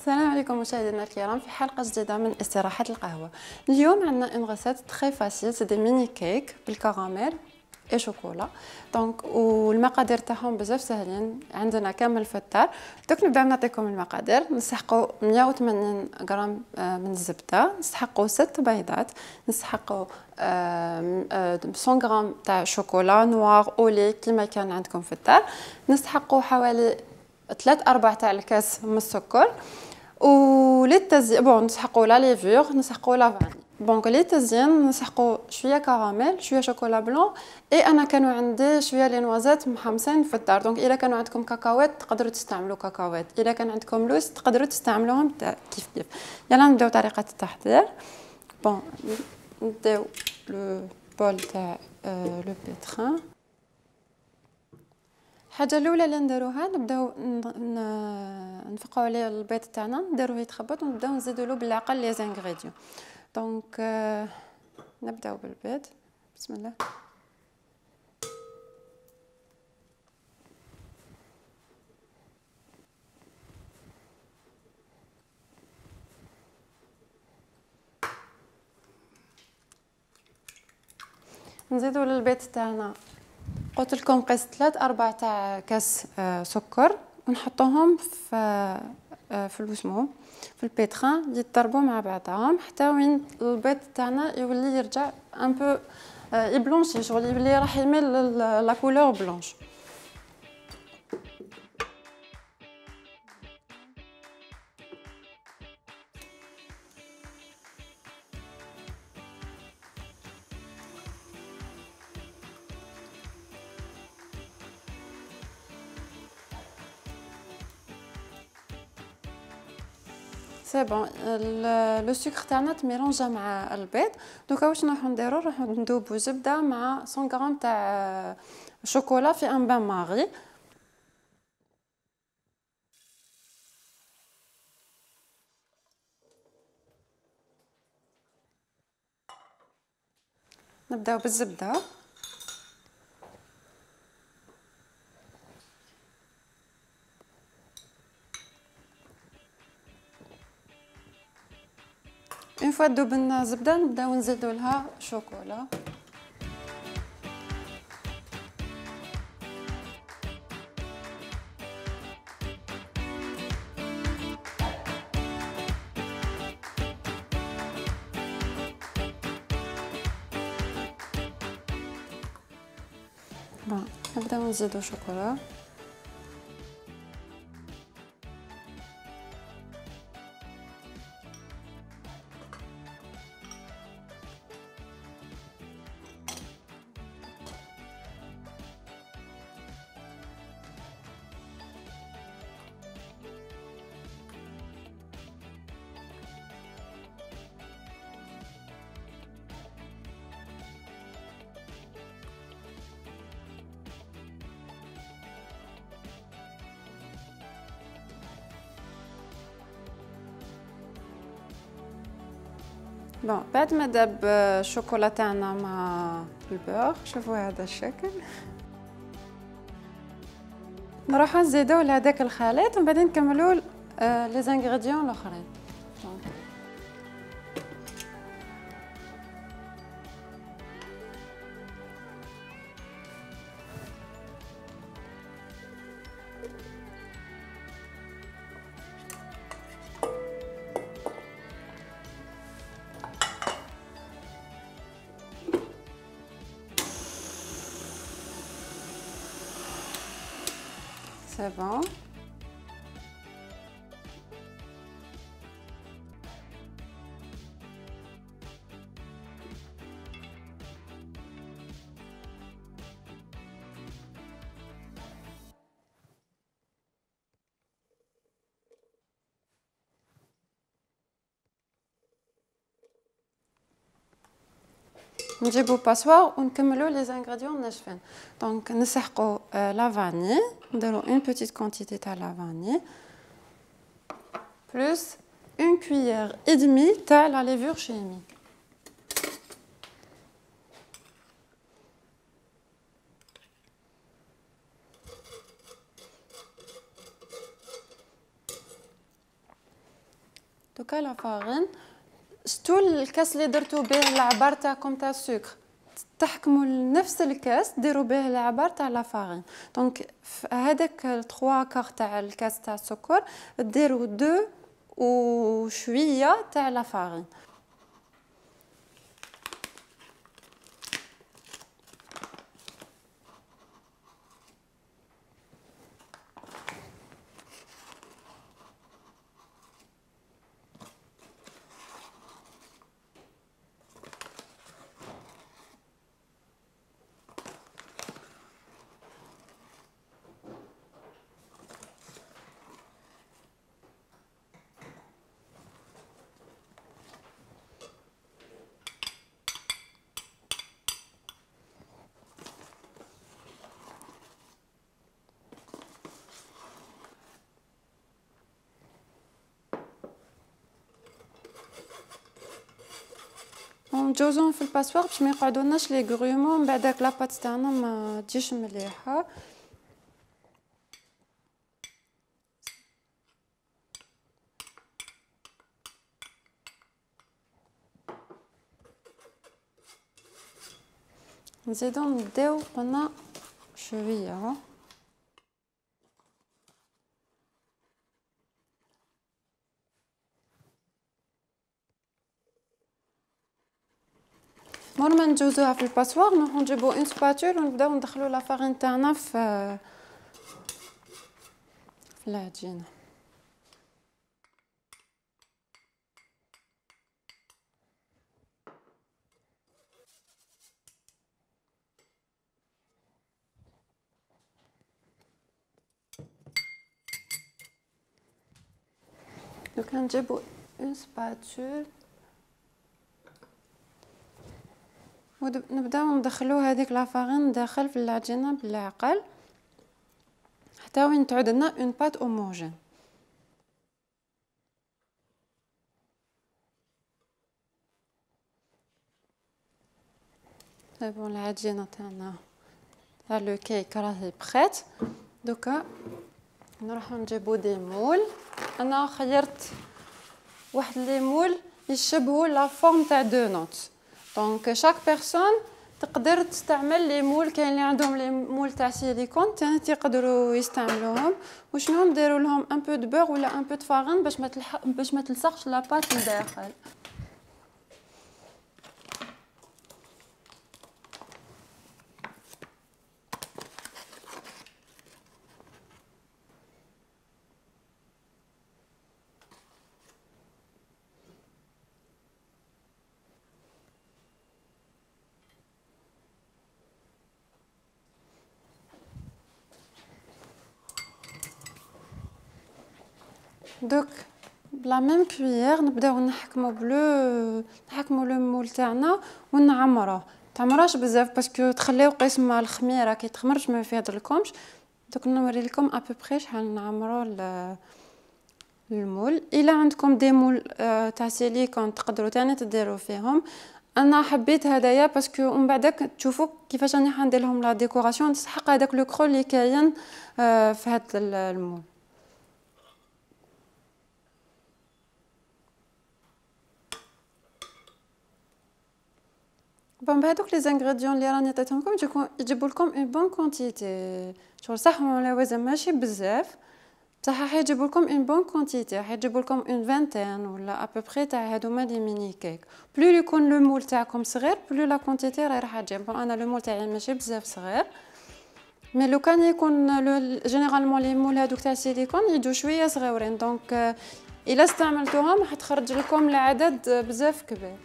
السلام عليكم مشاهدينا الكرام في حلقه جديده من استراحه القهوه. اليوم عندنا اون غوسيت تري فاسيل، سي دي ميني كيك بالكراميل اي شوكولا. دونك والمقادير تاعهم بزاف ساهلين، عندنا كامل في الدار. دوك نبداو نعطيكم المقادير. نسحقوا 180 غرام من الزبده، نسحقوا 6 بيضات، نسحقوا 100 غرام تاع شوكولا نوار اولي كيما كان عندكم في الدار، نسحقوا حوالي 3-4 تاع الكاس من السكر. وللتزيين بون نسحقوا لا ليفور، نسحقوا لا فاني. دونك للتزيين نسحقوا شويه كراميل، شويه شوكولا بلون، اي انا كانوا عندي شويه لي نوازات محمصين في الدار. دونك الا كانوا عندكم كاكاوات تقدروا تستعملوا كاكاوات، الا كان عندكم لوز تقدروا تستعملوهم كيف كيف. يلا نبداو طريقه التحضير. بون نديو لو بول تاع لو بيتران. الحاجه الاولى اللي نديروها نبداو نفقوا عليه البيض تاعنا، نديروه يتخبط ونبداو نزيدوا له بالعقل لي زانغريديون. دونك نبداو بالبيض. بسم الله. نزيدوا للبيض تاعنا قلت لكم قيس 3-4 تاع كاس سكر، ونحطوهم في الوسمو في البيتران يتضربوا مع بعضهم حتى وين البيض تاعنا يولي يرجع ان بو يبلونشي، شغل يولي راح يميل لا كولور بلونش. سي بون لو سكر تاعنا تميلونجا مع البيض. دوكا واش راح نديرو، راح ندوبو زبده مع 100 غرام تاع شوكولا في ان بان ماغي. نبداو بالزبده، اون فوا تذوب لنا الزبده نبداو نزيدو لها شوكولا. بون نبداو نزيدو شوكولا. بون بعد ما داب الشوكولا تاعنا مع البور، شوفوا هذا الشكل، نروحو نزيدو لهداك الخليط ومن بعد نكملوا لي زانغريديون الاخرين. سي بون. نجيبو باسوار ونكملوا لي زانغريديون ناشفين. دونك نسحقوا لا فاني، نديرو اون بيتيت كونتيتي تاع لا فاني بلس اون كويير اي دمي تاع لا ليفور شيميك. دوكا لا فارين شتو الكاس اللي درتو به العبار تاعكم تاع السكر تحكموا نفس الكاس ديروا به العبار تاع لا فارين. دونك هذاك 3 كار تاع الكاس تاع السكر ديروا 2 وشويه تاع لا فارين. نجوزهم في الباسوار باش ما يقعدولناش لي غرومون من بعداك لاباط تاعنا ما تجيش مليحه. نزيدو نديو قلنا شويه مور ما نجوزوها في الباسوار نروحو نجيبو اون سباتول ونبداو ندخلو لا فارين تاعنا في العجينه. دوكا نجيبو اون سباتول ونبداو ندخلو هذيك لا فارين داخل في العجينه بالعقل حتى وين تعود لنا اون بات اوموجين. بون العجينه تاعنا تاع لو كيك راهي بخيت. دوكا نروحو نجيبو دي مول. انا خيرت واحد لي مول يشبهوا لا فورم تاع دو نوت. دونك شاك بيرسون تقدر تستعمل لي مول. كاين اللي عندهم لي مول تاع سيليكون تاني يقدروا يستعملوهم. وشنو نديروا لهم ان بو دو بور ولا ان بو دو فارين باش ما تلصقش لاباط لداخل. دوك بلا ميم كويير نبداو نحكمو لو مول تاعنا ونعمروه. تعمروش بزاف باسكو تخليو قسم الخميره كي تخمرش ما يفيضلكمش. دوك نوري لكم ابوبري شحال نعمرو المول. الا عندكم دي مول تاع سيليكون تقدروا تاني تديروا فيهم. انا حبيت هدايا باسكو ومن بعدك تشوفوا كيفاش راني حندير لهم لا ديكوراسيون تسحق هذاك لو كرو اللي كاين في هذا المول. بون بهذوك لي زانغريديون اللي راني عطيتهم لكم يجيبوا لكم اون بون كونتيتي. شغل صح ولا وزن ماشي بزاف بصح راح يجيبوا لكم اون بون كونتيتي. راح يجيبوا لكم اون فانتين ولا ابوبري تاع هادوما لي ميني كيك. بلو يكون لو مول تاعكم صغير بلو لا كونتيتي راح تجيب. بون انا لو مول تاعي ماشي بزاف صغير مي لو كان يكون جينيرالمون لي مول هادوك تاع السيليكون يجوا شويه صغيورين. دونك الا استعملتوهم راح تخرج لكم العدد بزاف كبير.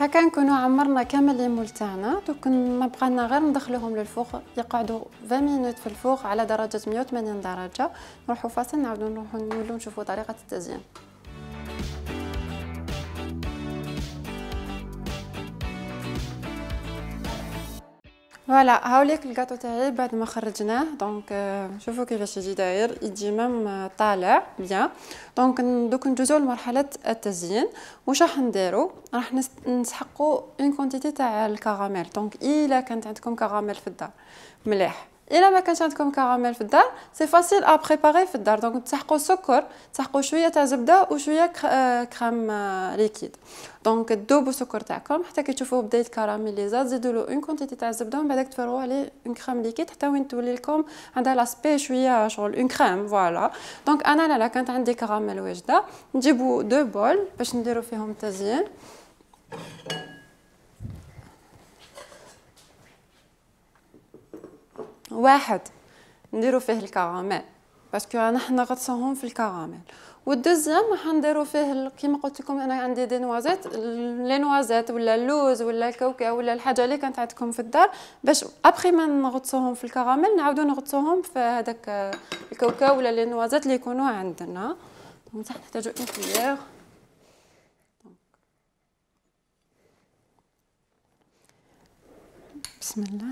هكا نكونوا عمرنا كامل لي مول تاعنا. دوك ما بقالنا غير ندخلوهم للفوق يقعدوا 20 مينوت في الفوق على درجه 180 درجه. نروحوا فاصل نعاودوا نولوا نشوفوا طريقه التزيين. فوالا هاوليك الكاطو تاعي بعد ما خرجناه. دونك شوفوا كيفاش يجي داير، يجي مام طالع بيان. دونك دوك ندوزو لمرحله التزيين. واش راح نديرو؟ راح نسحقوا اون كونتيتي تاع الكراميل. دونك الا كانت عندكم كراميل في الدار مليح، الا ما كانش عندكم كراميل في الدار سي فاسيل ا بريباري في الدار. دونك تسحقوا سكر، تسحقوا شويه تاع زبده وشويه كريم ليكيد. دونك تذوبوا السكر تاعكم حتى كي تشوفوه بدا يتكراميليزا، تزيدوا له اون كونتيتي تاع الزبده ومن بعد تفرغوا عليه اون كريم ليكيد حتى وين تولي لكم عندها لاسبي شويه شغل اون كريم. فوالا دونك انا لا كانت عندي كراميل واجده، نجيبوا دو بول باش نديروا فيهم التزيين. واحد نديرو فيه الكراميل باسكو انا حنا نغطسوهم في الكراميل، والدوزيام راح نديرو فيه كيما قلت لكم انا عندي دي نوازيت، لي نوازيت ولا اللوز ولا الكاوكاو ولا الحاجه اللي كانت عندكم في الدار، باش ابخي ما نغطسوهم في الكراميل نعاودو نغطسوهم في هذاك الكاوكاو ولا لي نوازيت اللي يكونوا عندنا. دونك نحتاجو اون كولير. بسم الله.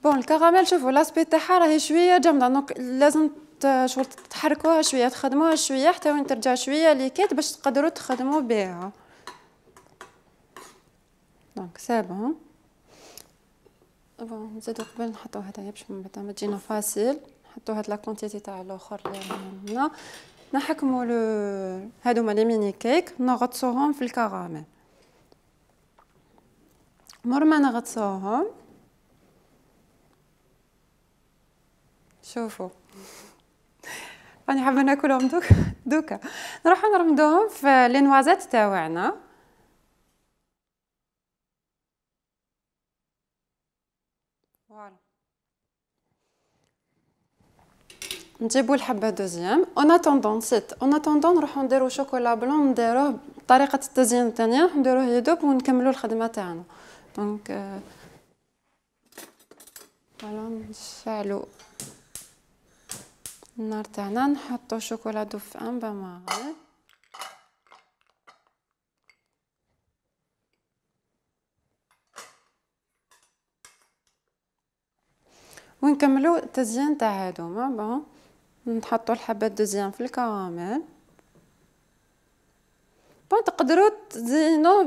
بون الكراميل شوفوا لاسبي تاعها راهي شويه جامده، دونك لازم شغل تحركوها شويه، تخدموها شويه حتى وين ترجع شويه ليكيد باش تقدروا تخدموا بها. دونك سي بون. بون نزيدو قبل نحطو هدايا باش من بعد ما تجينا فاسيل، نحطو هاد لا كونتيتي تاع الاخر اللي عندنا. نحكموا هادوما لي ميني كيك نغطسوهم في الكراميل. مور ما نغطسوهم شوفوا راني حابه ناكلهم دوكا نروحو نرمدوهم في لي نوازيت تاعنا. فوالا نجيبو الحبه دوزيام. اون اتوندون نروحو نديرو شوكولا بلون نديروه بطريقه التزيين الثانيه، نديروه يدوب ونكملو الخدمه تاعنا. دونك فوالا نشعلو النار تاعنا، نحطو شوكولا دوب في ان بان ماغي. ونكملو التزيين تاع هادوما. بون نحطو الحبه دوزيام في الكراميل. بون تقدروا تزينوا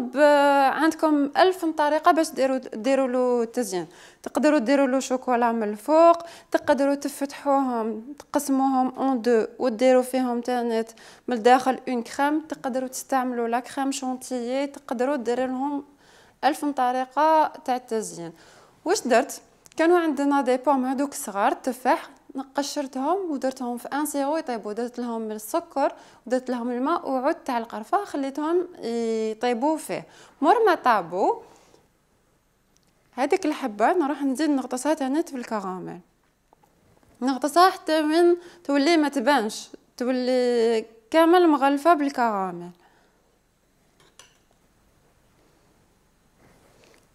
عندكم 1000 طريقه باش ديروا له التزيين. تقدروا ديروا له شوكولا من الفوق، تقدروا تفتحوهم تقسموهم اون دو وديروا فيهم تانيت من الداخل اون كريم، تقدروا تستعملوا لا كريم شونتيي، تقدروا ديروا لهم 1000 طريقه تاع التزيين. واش درت؟ كانوا عندنا دي بوم هذوك صغار تفاح، قشرتهم ودرتهم في ان سيرو يطيبوا، درت لهم السكر ودرت لهم الماء وعود تاع القرفه خليتهم يطيبوا فيه. مور ما طابوا هذيك الحبه نروح نزيد نغطسها تاني في الكراميل، نغطسها حتى من تولي ما تبانش، تولي كامل مغلفه بالكراميل.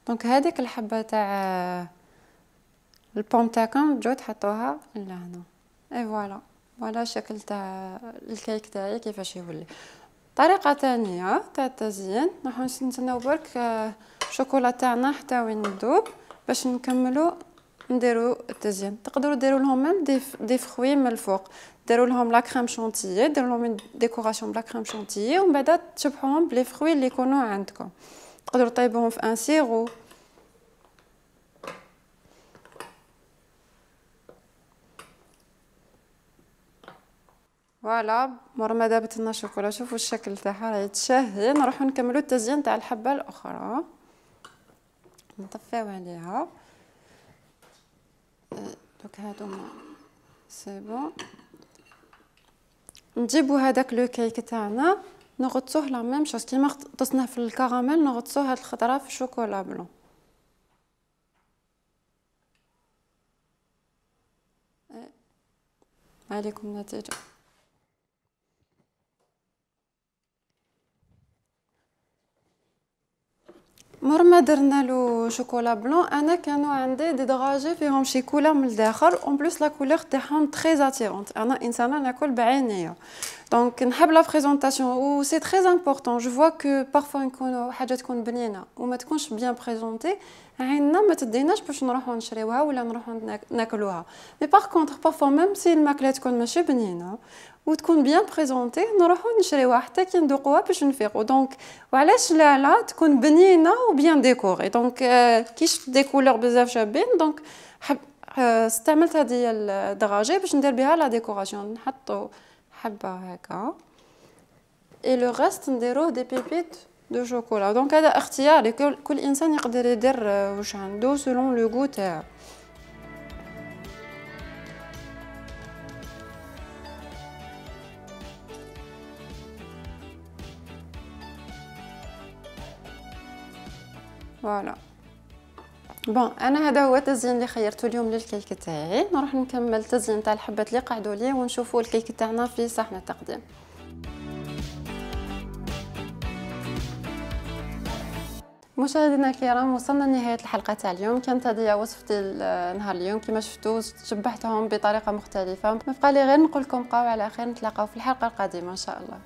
دونك هذيك الحبه تاع البوم تاعكم تجو تحطوها لهنا. اي فوالا الشكل تاع الكيك تاعي كيفاش يولي. طريقه ثانيه تاع التزيين راح نستناو برك الشوكولا تاعنا حتى وين يذوب باش نكملوا نديروا التزيين. تقدروا ديروا لهم ميم دي فروي من الفوق، ديروا لهم لا كريم شونتيي، ديروا لهم ديكوراسيون بلا كريم شونتيي ومن بعد تشبحوهم بلي فروي اللي يكونوا عندكم. تقدروا طيبوهم في ان سيرو. فوالا مور ما دابت لنا الشوكولا شوفوا الشكل تاعها راهي تشهي. نروحو نكملو التزيين تاع الحبه الاخرى. نطفيو عليها دوك هادوما سي بون. نجيبو هذاك لو كيك تاعنا نغطسوه لا ميم شوز كيما غطسناه في الكراميل، نغطسوه هاد الخضره في الشوكولا بلون. عليكم النتيجه. مور لما درنا له شوكولا بلون انا كانوا عندي دي دراجي فيهم شي كولور من الداخل اون بليس لا كولور تاعهم تري اتيرونت. انا انسانه ناكل بعينيا دونك نحب لا بريزونطاسيون و سي تري امبورطون. جو فوا كو بارفوا نكونوا حاجه تكون بنينه وما تكونش بيان بريزونتي عيننا ما تديناش باش نروحوا نشريوها ولا نروحوا ناكلوها. مي باغ كونطخ بارفوا ميم سي الماكله تكون ماشي بنينه وتكون بيان بريزونتي نروحوا نشريوها حتى كي ندوقوها باش نفيقوا. دونك وعلاش لا تكون بنينه وبيان ديكوري. دونك كيش دي كولور بزاف شابين دونك استعملت هذه الدراجي باش ندير بها لا ديكوراسيون. نحطوا حبه هكا اي لو ريست نديروه دي بيبيت دو شوكولا. دونك هذا اختياري كل انسان يقدر يدير واش عنده سولون لو غو تاعو. فوالا بون انا هذا هو التزيين اللي خيرته اليوم للكيك تاعي. نروح نكمل التزيين تاع الحبات اللي قعدوا لي ونشوفوا الكيك تاعنا في صحن التقديم. مشاهدينا الكرام وصلنا لنهايه الحلقه تاع اليوم. كانت هذه وصفتي نهار اليوم كما شفتوا شبحتهم بطريقه مختلفه. ما بقى لي غير نقول لكم بقاو على خير نتلاقاو في الحلقه القادمه ان شاء الله.